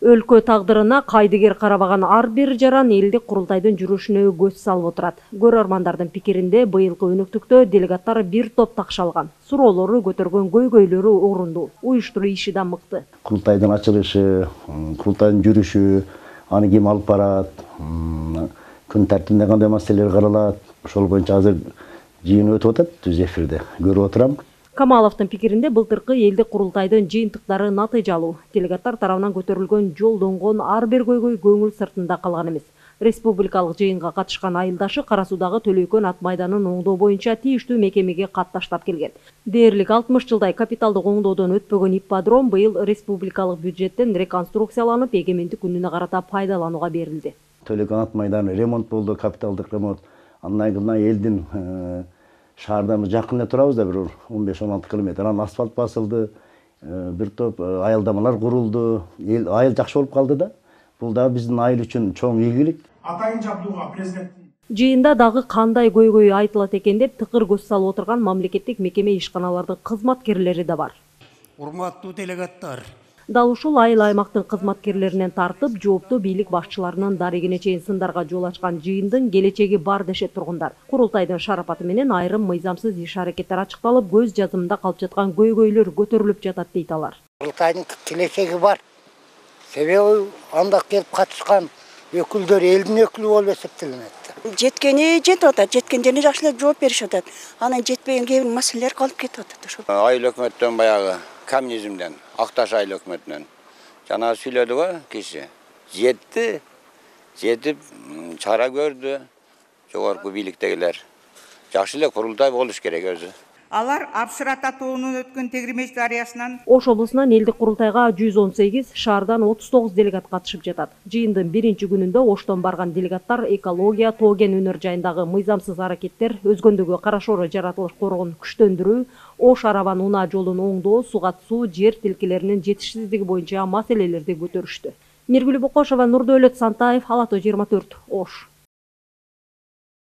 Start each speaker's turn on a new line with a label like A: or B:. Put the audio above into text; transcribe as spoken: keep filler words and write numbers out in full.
A: Өлкө тагдырына кайдыгер карабаган ар бир жаран элдик курултайдын жүрүшүнө көз салып отурат. Көрөрмандардын пикиринде быйылкы өнөктүктө делегаттар бир топ такш алган. Суроолору көтөргөн көйгөйлөрү орундуу, уюштуруу иши да мыкты.
B: Курултайдын ачылышы, курултайдын жүрүшү, аны ким алып барат, күн тартибинде кандай маселелер каралат, ошол боюнча азыр жыйын өтүп атат, түз эфирде көрүп отурам.
A: Камаловдун пикиринде былтыркы элдик курултайдын жыйынтыктары натыйжалуу. Делегаттар тарабынан көтөрүлгөн жолдонгон ар бир көйгөй көңүл сыртында калган эмес. Республикалык жыйынга катышкан айылдашы Кара Суудагы Төлөйкөн ат майданын оңдоо боюнча тийиштүү мекемеге кат таштап келген. Дээрлик алтымыш жылдай капиталдык оңдоодон өтпөгөн ипподром быйыл республикалык бюджеттен реконструкцияланып, эгемендик күнүнө карата пайдаланууга берилди.
B: Төлөйкөн ат майданы ремонт болду, капиталдык ремонт. Андан кийин элдин шаардан жакын эле турабыз да, бир он беш он алты километр. Анан асфальт басылды, бир топ айылдамалар курулду. Эл айыл жакшы болуп калды да. Бул да биздин айыл үчүн чоң ийгилик.
C: Атайын жабдууга президенттин
A: жыйында дагы кандай көйгөй айтылат экен деп тыкыр көз салып отурган мамлекеттик мекеме ишканалардын кызматкерлери да бар.
D: Урматтуу делегаттар,
A: Дал ушул айыл аймактын кызматкерлеринен тартып, жооптуу бийлик башчыларынын дарегине чейин сындарга жол ачкан жыйындын келечеги бар дешет тургундар. Курултайдын шарапаты менен айрым мыйзамсыз иш-аракеттер ачыкталып, көз жазымында калып жаткан көйгөйлөр көтөрүлүп жатат дейт алар.
E: Курултайдын келечеги бар. Себеби анда келип катышкан өкүлдөр элдин өкүлү болуп эсептелинет.
F: Жеткени жетип атат, жеткендерине жакшы эле жооп беришип атат. Анан жетпеген кээ бир маселелер калып кетип атат ошо.
G: Айыл өкмөттөн баягы коммунизмден, Акташ айыл өкмөтүнөн жана сүйлөдү го киши. Жетти, жетип чара көрдү. Жогорку бийликтегилер. Жакшы эле курултай болуш керек өзү.
H: Алар Апшыра татуунун өткөн тегримеш дарыясынан
A: Ош облусунан элдик курултайга жүз он сегиз, шаардан отуз тогуз делегат катышып жатат. Жыйындын биринчи күнүндө Оштон барган делегаттар экология, тоо кен өнөр жайындагы мыйзамсыз аракеттер, өзгөндөгү Карашоро жаратылыш коргоонун күчтөндүрүү, Ош Арабан Унаа жолун оңдоо, суга суу, жер тилкелеринин жетишсиздиги боюнча маселелерди көтөрүштү. Миргүл Бокошова, Нурдөөлөт Сантаев, Ала тоо жыйырма төрт, Ош.